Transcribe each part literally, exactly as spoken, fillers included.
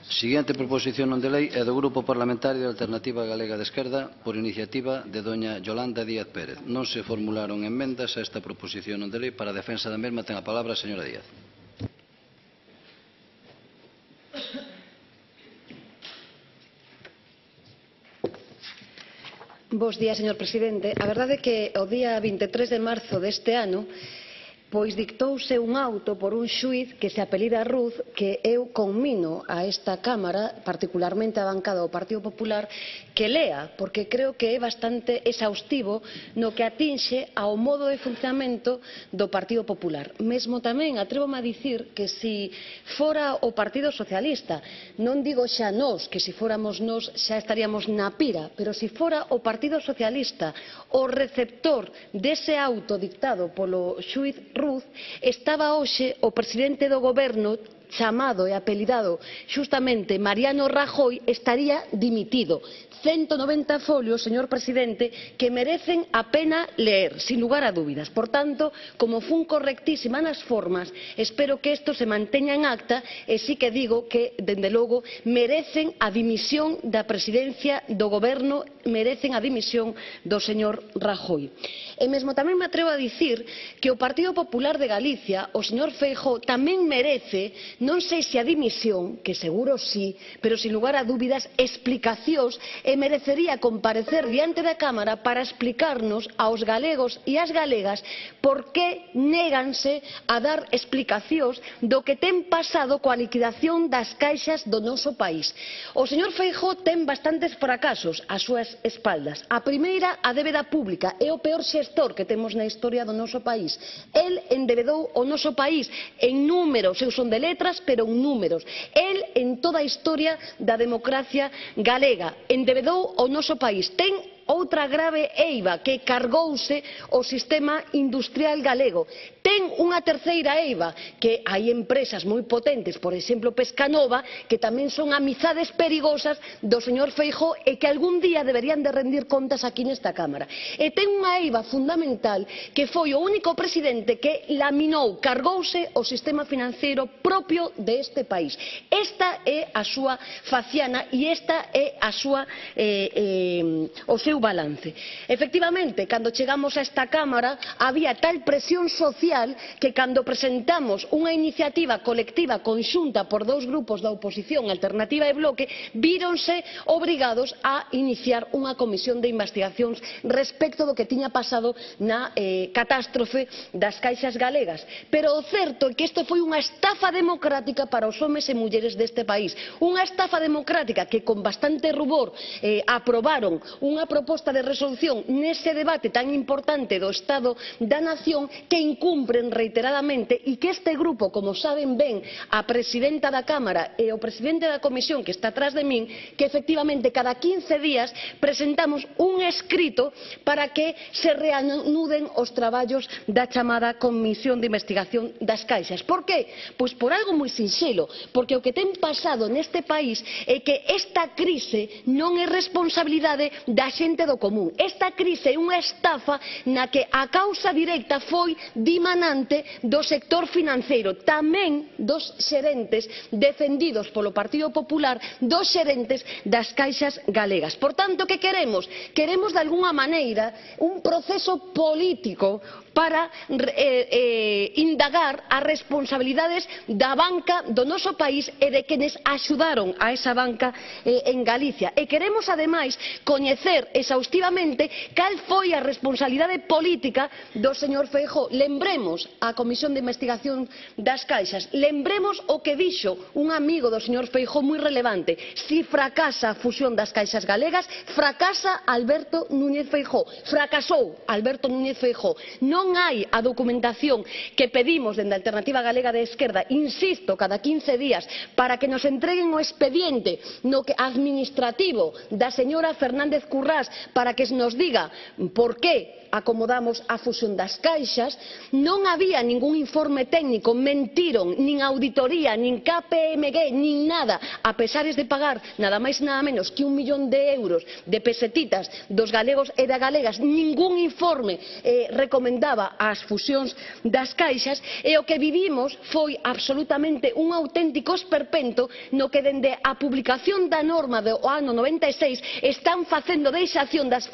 Seguinte proposición non de lei é do Grupo Parlamentario de Alternativa Galega de Esquerda por iniciativa de doña Yolanda Díaz Pérez. Non se formularon enmendas a esta proposición non de lei. Para a defensa da mesma ten a palabra a señora Díaz. Bos días, señor presidente. A verdade é que o día vinte e tres de marzo deste ano pois dictouse un auto por un xuíz que se apelida Ruz, que eu conmino a esta Cámara, particularmente a bancada do Partido Popular, que lea, porque creo que é bastante exhaustivo no que atinxe ao modo de funcionamento do Partido Popular. Mesmo tamén atrévome a dicir que se fora o Partido Socialista, non digo xa nós, que se fóramos nós xa estaríamos na pira, pero se fora o Partido Socialista o receptor dese auto dictado polo xuíz Ruz, estaba hoxe o presidente do Goberno, chamado e apelidado xustamente Mariano Rajoy, estaría dimitido. ciento noventa folios, señor presidente, que merecen a pena leer, sin lugar a dúbidas. Por tanto, como fun correctísima nas formas, espero que isto se manteña en acta e sí que digo que, dende logo, merecen a dimisión da presidencia do Goberno, merecen a dimisión do señor Rajoy. E mesmo tamén me atrevo a dicir que o Partido Popular de Galicia, o señor Feijóo, tamén merece, non sei se a dimisión, que seguro sí, pero sin lugar a dúbidas, explicacións e merecería comparecer diante da Cámara para explicarnos aos galegos e ás galegas por que néganse a dar explicacións do que ten pasado coa liquidación das caixas do noso país. O señor Feijóo ten bastantes fracasos ás súas espaldas. A primeira, a débeda pública, é o peor xestor que temos na historia do noso país. El endebedou o noso país en números, eu son de letras, pero en números. El en toda a historia da democracia galega endebedou o noso país. Ten outra grave eiva, que cargouse o sistema industrial galego. Ten unha terceira eiva, que hai empresas moi potentes, por exemplo Pescanova, que tamén son amizades perigosas do señor Feijóo e que algún día deberían de rendir contas aquí nesta Cámara. E ten unha eiva fundamental, que foi o único presidente que laminou, cargouse o sistema financeiro propio deste país. Esta é a súa faciana e esta é a súa eh, eh, o seu balance. Efectivamente, cando chegamos a esta Cámara había tal presión social que cando presentamos unha iniciativa colectiva conxunta por dous grupos da oposición, Alternativa e Bloque, víronse obrigados a iniciar unha comisión de investigacións respecto do que tiña pasado na eh, catástrofe das caixas galegas. Pero o certo é que isto foi unha estafa democrática para os homes e mulleres deste país. Unha estafa democrática que con bastante rubor eh, aprobaron unha proposta de resolución nese debate tan importante do Estado da Nación, que incumpren reiteradamente e que este grupo, como saben ben a presidenta da Cámara e o presidente da Comisión que está atrás de min, que efectivamente cada quince días presentamos un escrito para que se reanuden os traballos da chamada Comisión de Investigación das Caixas. Por que? Pois por algo moi sinxelo, porque o que ten pasado neste país é que esta crise non é responsabilidade da xente do común. Esta crise é unha estafa na que a causa directa foi dimanante do sector financeiro, tamén dos xerentes defendidos polo Partido Popular, dos xerentes das caixas galegas. Por tanto, que queremos? Queremos, de algunha maneira, un proceso político para eh, eh, indagar as responsabilidades da banca do noso país e de quenes axudaron a esa banca eh, en Galicia. E queremos, ademais, coñecer exhaustivamente cal foi a responsabilidade política do señor Feijóo. Lembremos a Comisión de Investigación das Caixas, lembremos o que dixo un amigo do señor Feijóo moi relevante: si fracasa a fusión das caixas galegas, fracasa Alberto Núñez Feijóo. Fracasou Alberto Núñez Feijóo. Non hai a documentación que pedimos dende a Alternativa Galega de Esquerda, insisto, cada quince días, para que nos entreguen o expediente no que administrativo da señora Fernández Currás, para que nos diga por que acomodamos a fusión das caixas. Non había ningún informe técnico, mentiron, nin auditoría, nin K P M G, nin nada, a pesares de pagar nada máis nada menos que un millón de euros de pesetitas dos galegos e das galegas. Ningún informe eh, recomendaba apoiaba as fusións das caixas, e o que vivimos foi absolutamente un auténtico esperpento no que dende a publicación da norma do ano noventa e seis están facendo deixación das,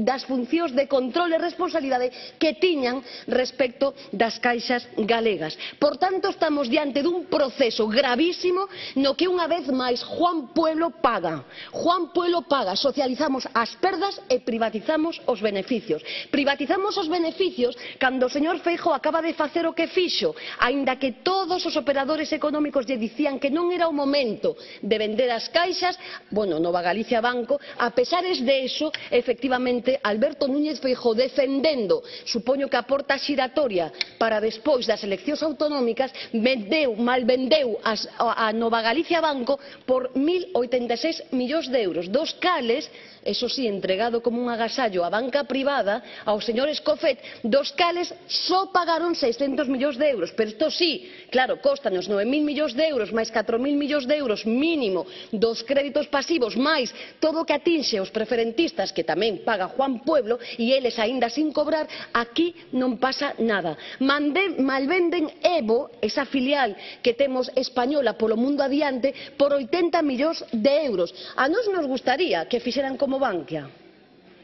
das funcións de control e responsabilidade que tiñan respecto das caixas galegas. Por tanto, estamos diante dun proceso gravísimo no que unha vez máis Juan Pueblo paga. Juan Pueblo paga. Socializamos as perdas e privatizamos os beneficios. Privatizamos os beneficios cando o señor Feijóo acaba de facer o que fixo, aínda que todos os operadores económicos lle dicían que non era o momento de vender as caixas, bueno, Nova Galicia Banco, a pesares de eso, efectivamente, Alberto Núñez Feijóo defendendo, supoño que a porta xiratoria para despois das eleccións autonómicas, vendeu, malvendeu as, a Nova Galicia Banco por mil oitenta e seis millóns de euros, dos cales, eso sí, entregado como un agasallo á banca privada, ao señor Escofet, dos cales só pagaron seiscentos millóns de euros. Pero isto sí, claro, costanos nove mil millóns de euros, máis catro mil millóns de euros mínimo dos créditos pasivos, máis todo o que atinxe os preferentistas, que tamén paga Juan Pueblo, e eles aínda sin cobrar, aquí non pasa nada. Mande, malvenden Evo, esa filial que temos española polo mundo adiante, por oitenta millóns de euros. A nós nos gustaría que fixeran como Bankia,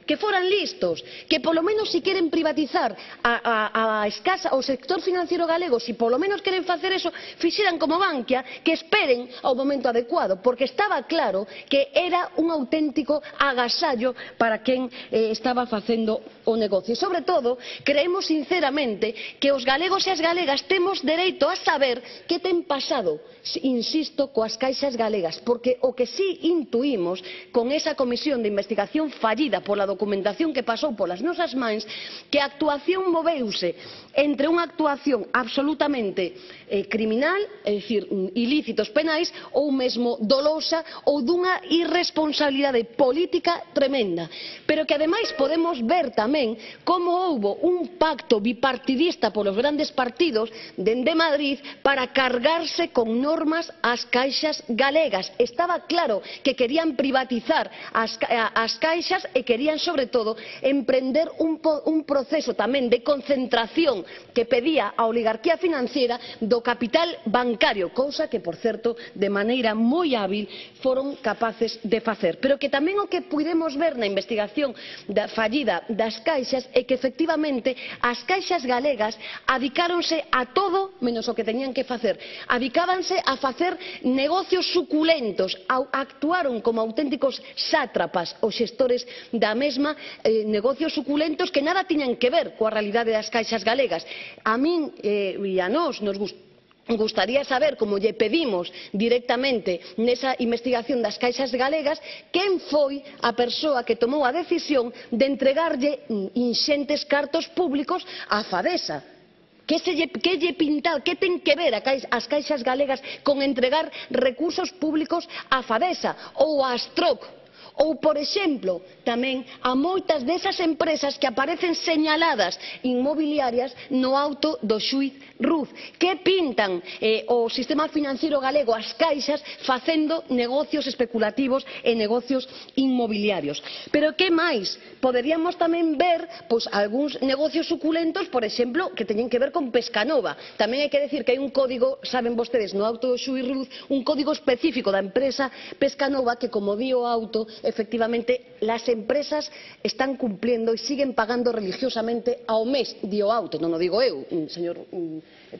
que foran listos, que polo menos si queren privatizar a, a, a escasa, o sector financiero galego, si polo menos queren facer eso, fixeran como Bankia, que esperen ao momento adecuado, porque estaba claro que era un auténtico agasallo para quen eh, estaba facendo o negocio. E, sobre todo, creemos sinceramente que os galegos e as galegas temos dereito a saber que ten pasado, insisto, coas caixas galegas, porque o que sí intuímos con esa comisión de investigación fallida pola documentación que pasou polas nosas mans, que a actuación moveuse entre unha actuación absolutamente eh, criminal, é dicir, ilícitos penais, ou mesmo dolosa, ou dunha irresponsabilidade política tremenda. Pero que ademais podemos ver tamén como houbo un pacto bipartidista polos grandes partidos dende Madrid para cargarse con normas ás caixas galegas. Estaba claro que querían privatizar as, as caixas e querían, sobre todo, emprender un, un proceso tamén de concentración que pedía a oligarquía financiera do capital bancario, cousa que, por certo, de maneira moi hábil foron capaces de facer. Pero que tamén o que pudemos ver na investigación da fallida das caixas é que, efectivamente, as caixas galegas adicáronse a todo menos o que teñían que facer. Adicábanse a facer negocios suculentos, actuaron como auténticos sátrapas os xestores da mesma, eh, negocios suculentos que nada tiñan que ver coa realidade das caixas galegas. A min eh, e a nós nos gusta Gustaría saber, como lle pedimos directamente nesa investigación das caixas galegas, quen foi a persoa que tomou a decisión de entregarlle inxentes cartos públicos á Fadesa. Que, se lle, que lle pintar, que ten que ver a caixa, as caixas galegas con entregar recursos públicos á Fadesa ou á Astroc? Ou, por exemplo, tamén a moitas desas empresas que aparecen señaladas inmobiliarias no auto do xuíz Ruz, que pintan eh, o sistema financiero galego, as caixas, facendo negocios especulativos e negocios inmobiliarios. Pero que máis? Poderíamos tamén ver pois, algúns negocios suculentos, por exemplo, que teñen que ver con Pescanova. Tamén hai que decir que hai un código, saben vostedes, no auto do xuíz Ruz, un código específico da empresa Pescanova que, como di o auto, efectivamente, las empresas están cumpliendo e siguen pagando religiosamente ao mes, di o auto, non o digo eu, señor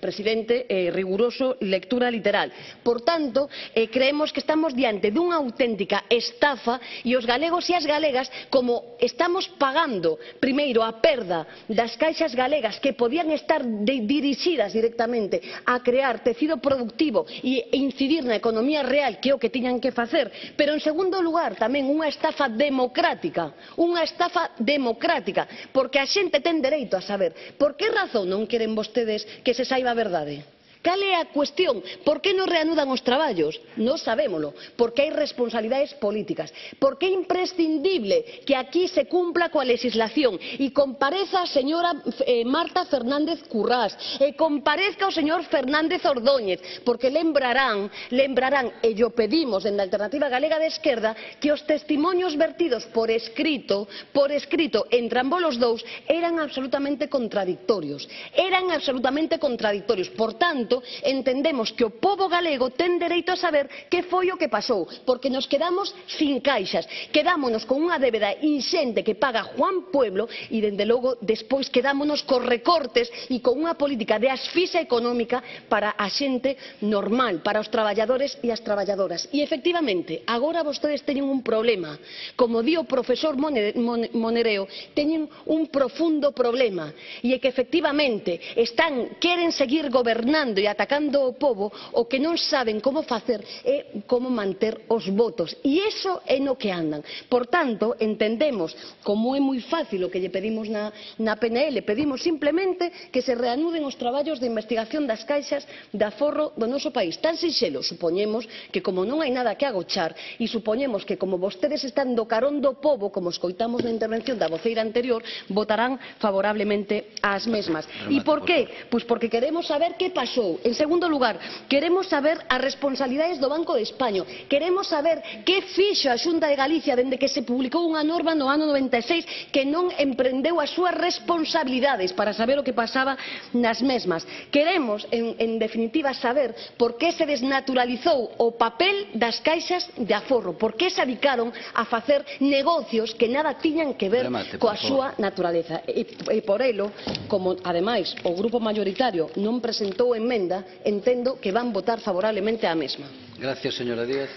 presidente, eh, riguroso lectura literal. Por tanto, eh, creemos que estamos diante dunha auténtica estafa e os galegos e as galegas, como estamos pagando primeiro a perda das caixas galegas que podían estar de, dirixidas directamente a crear tecido productivo e incidir na economía real, que é o que tiñan que facer, pero en segundo lugar tamén unha estafa democrática, unha estafa democrática, porque a xente ten dereito a saber por que razón non queren vostedes que se saiba a verdade. Cal é a cuestión? Por que non reanudan os traballos? Non sabémolo, porque hai responsabilidades políticas, porque é imprescindible que aquí se cumpla coa legislación e compareza a señora eh, Marta Fernández Currás e comparezca o señor Fernández Ordóñez, porque lembrarán, lembrarán, e yo pedimos en la Alternativa Galega de Esquerda, que os testimonios vertidos por escrito, por escrito entre ambos os dous eran absolutamente contradictorios, eran absolutamente contradictorios. Por tanto, entendemos que o pobo galego ten dereito a saber que foi o que pasou, porque nos quedamos sin caixas, quedámonos con unha débeda inxente que paga Juan Pueblo e, dende logo, despois quedámonos cos recortes e con unha política de asfixia económica para a xente normal, para os traballadores e as traballadoras. E, efectivamente, agora vostedes teñen un problema. Como di o profesor Monereo, teñen un profundo problema, e é que, efectivamente, están, queren seguir gobernando e atacando o pobo, o que non saben como facer é como manter os votos, e iso é no que andan. Por tanto, entendemos, como é moi fácil o que lle pedimos na, na P N L, pedimos simplemente que se reanuden os traballos de investigación das caixas de aforro do noso país. Tan sinxelo, supoñemos que como non hai nada que agochar, e supoñemos que como vostedes están do carón do pobo, como escoitamos na intervención da voceira anterior, votarán favorablemente ás mesmas. E por qué? Pois porque queremos saber que pasou. En segundo lugar, queremos saber as responsabilidades do Banco de España. Queremos saber que fixo a Xunta de Galicia dende que se publicou unha norma no ano noventa e seis que non emprendeu as súas responsabilidades para saber o que pasaba nas mesmas. Queremos, en, en definitiva, saber por que se desnaturalizou o papel das caixas de aforro, por que se dedicaron a facer negocios que nada tiñan que ver Remate, coa súa naturaleza. E, e por elo, como ademais o grupo mayoritario non presentou enmenda, entendo que van votar favorablemente á mesma. Gracias, señora Díaz.